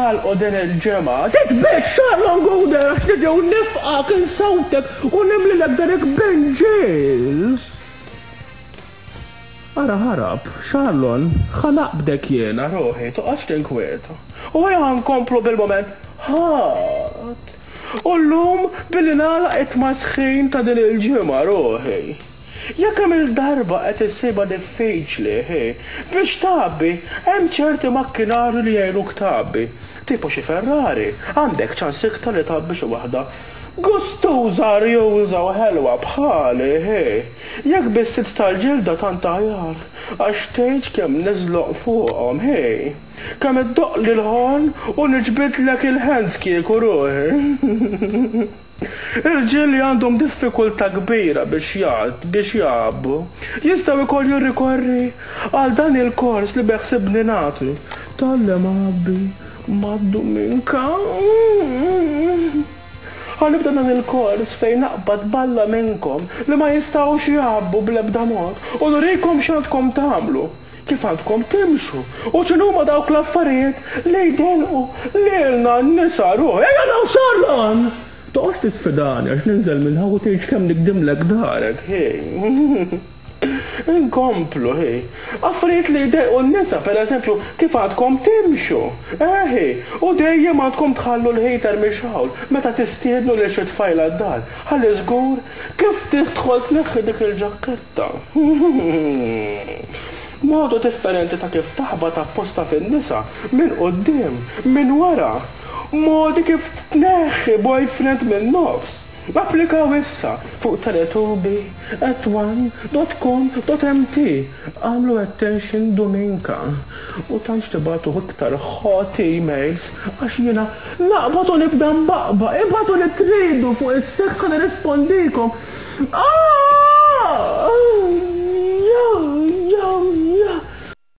nagħlqu din il-ġimgħa. Titbiegħedx Charlon Gouder għax niġi u nifqgħek insawtek u nimlilek darek b'inġiel. Ara ħarab, Charlon, ħa naqbdek jiena ruħi, toqgħodx tinkwieta. U ejja ħa nkomplu bil-mument ħadd. U llum billi nagħlaq it-tmasħin ta' din il-ġimgħa ruħi. Jekk kemm-il darba qed issibha diffiċli, hi, biex tgħabbi, hemm ċerti makkinarju li jgħinuk tgħabbi. Tipo xi Ferrari, għandek ċans iktar li tgħabbi xi waħda gustuża, arjuża u ħelwa bħali, hi. Jekk bis-sits tal-ġilda tant aħjar, għax tgħidx kemm niżloq fuqhom, hi. Kemm iddoqqli l-ħorn u niġbidlek il-hands kieku ruħi. Irġiel li għandhom diffikultà kbira biex biex jgħabbu, jistgħu wkoll jirrikorri għal dan il-kors li beħsibni nagħti. Tgħallem għabbi mad-Duminka. Ħa nibda dan il-kors fejn naqbad balla minnkom li ma jistgħux jgħabbu bl-ebda mod u nurikom x'għandkom tagħmlu. Kif għandkom timxu u x'inhuma dawk l-affarijiet li jdejqu lilna n-nisa ruħ. Ejja naw Charlon! Toqgħodx tisfidani għax ninżel minn hawn u tgħidx kemm nigdimlek darek, hi. Inkomplu, hi. Affarijiet li jdejqu n-nisa, pereżempju, kif għandkom timxu, eh, hi. U dejjem għandkom tħallu l-heater mixgħul meta tistiednu lil xi tfajla d-dar, ħalli żgur kif tidħol tneħħi dik il-ġakketta. Ta. Modu differenti ta' kif taħbat apposta fin-nisa, minn quddiem, minn wara. Modi kif tneħħi boyfriend min-nofs. Applikaw issa fuq teletubi at one dot com dot mt. Agħmlu attention Duminka. U tantx tibagħtu iktar hot emails għax jiena naqbad u nibda nbaqbaq. Ibagħtu li tridu fuq is-sex ħa nirrispondikom. Aah!